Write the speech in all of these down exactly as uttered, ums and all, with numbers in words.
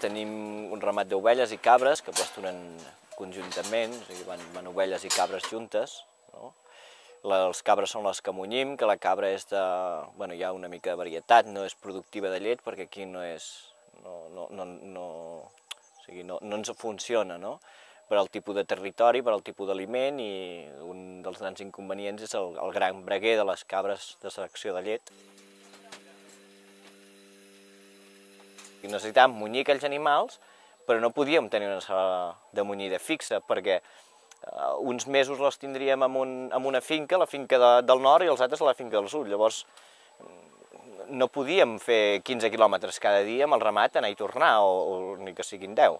tenim un ramat d'ovelles i cabres que pasturen conjuntament, o sigui, van, van ovelles i cabres juntes, no? Les cabres són les que munyim, que la cabra és de... Bueno, hi ha una mica de varietat, no és productiva de llet, perquè aquí no és... No, no, no, no, o sigui, no, no ens funciona, no? Per al tipus de territori, per al tipus d'aliment, i un dels grans inconvenients és el, el gran breguer de les cabres de secció de llet. I necessitàvem munyir aquells animals, però no podíem tenir una sala de munyida fixa, perquè uh, uns mesos les tindríem en, un, en una finca, la finca de, del nord, i els altres a la finca del sud. Llavors no podíem fer quinze quilòmetres cada dia amb el ramat, anar i tornar, o, o ni que siguin deu.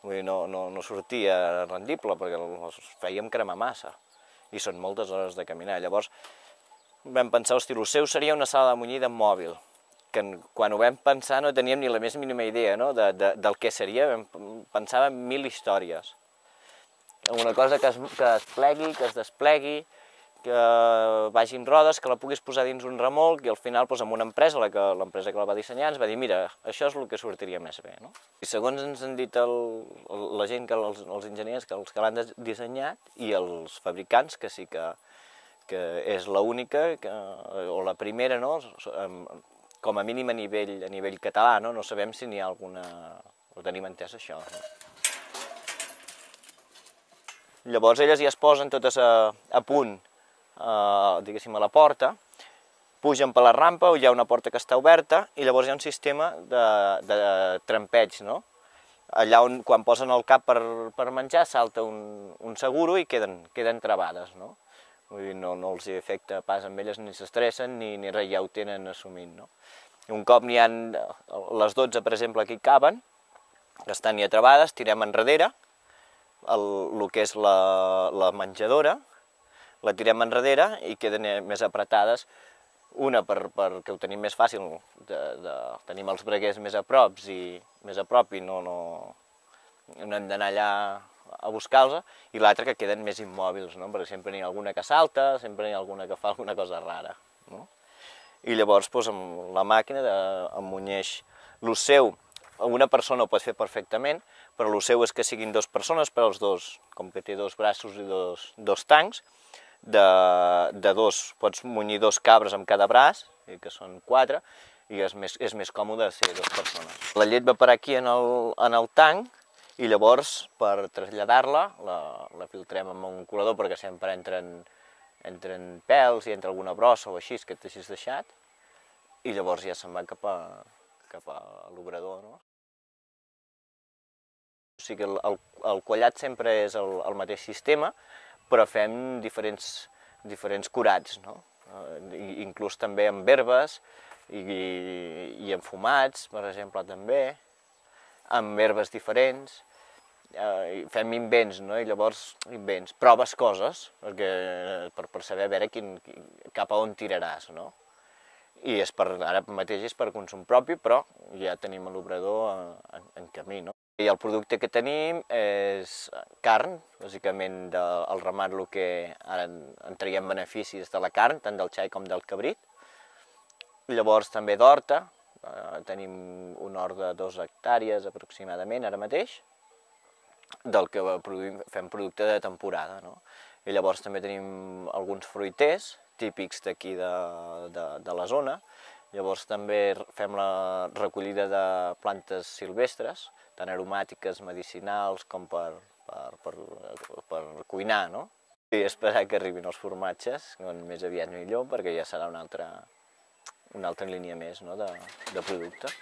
Vull dir, no, no, no sortia rendible, perquè els fèiem cremar massa, i són moltes hores de caminar. Llavors vam pensar, hosti, el seu seria una sala de munyida mòbil, que quan ho vam pensar no teníem ni la més mínima idea, no? de, de, del que seria, vam, pensàvem mil històries. Una cosa que es, que es plegui, que es desplegui, que vagi en rodes, que la puguis posar dins un remolc, i al final, doncs, amb una empresa, l'empresa que la va dissenyar, ens va dir, mira, això és el que sortiria més bé. No? I segons ens han dit el, el, la gent, que els, els enginyers que, els que l'han dissenyat, i els fabricants, que sí que, que és l'única, o la primera, no? Com a mínim a nivell, a nivell català, no? No sabem si n'hi ha alguna... ho tenim entès, això. No? Llavors elles ja es posen totes a, a punt, a, diguéssim, a la porta, pugen per la rampa, hi ha una porta que està oberta, i llavors hi ha un sistema de, de trampeig, no? Allà on, quan posen el cap per, per menjar, salta un, un seguro i queden, queden travades, no? Vull dir, no, no els afecta pas amb elles, ni s'estressen, ni, ni res, ja ho tenen assumint, no? Un cop n'hi ha les dotze, per exemple, que hi caben, que estan ja travades, tirem enrere, el, el que és la, la menjadora, la tirem enrere i queden més apretades, una per, perquè ho tenim més fàcil, de, de, tenim els breguers més a prop i, més a prop i no, no, no hem d'anar allà a buscar-los, i l'altra que queden més immòbils, no? Perquè sempre n'hi ha alguna que salta, sempre n'hi ha alguna que fa alguna cosa rara, no? I llavors, doncs, amb la màquina emmunyeix l'osseu. Una persona ho pot fer perfectament, però l'osseu és que siguin dues persones, per als dos, com que té dos braços i dos, dos tancs, de, de dos, pots munyir dos cabres amb cada braç, que són quatre, i és més, és més còmode ser dues persones. La llet va parar aquí en el, en el tanc, i llavors, per traslladar-la, la, la filtrem amb un colador, perquè sempre entren, entren pèls i entra alguna brossa o així, que t'hagis deixat, i llavors ja se'n va cap a, cap a l'obrador, no? O sigui que el, el, el quallat sempre és el, el mateix sistema, però fem diferents, diferents curats, no? I, inclús també amb herbes i, i amb fumats, per exemple, també, amb herbes diferents. Eh, fem invents, no? I llavors invents, proves coses, perquè, per, per saber a veure quin, cap a on tiraràs, no? I és per, ara mateix és per consum propi, però ja tenim l'obrador en, en camí, no? I el producte que tenim és carn, bàsicament del ramat, el que ara en traiem beneficis de la carn, tant del xai com del cabrit. Llavors també d'horta, eh, tenim un hort de dues hectàrees aproximadament ara mateix, del que produïm, fem producte de temporada, no? I llavors també tenim alguns fruiters típics d'aquí de, de, de la zona. Llavors també fem la recollida de plantes silvestres, tant aromàtiques, medicinals, com per, per, per, per cuinar, no? I esperar que arribin els formatges, més aviat millor, perquè ja serà una altra, una altra línia més, no? de, de producte.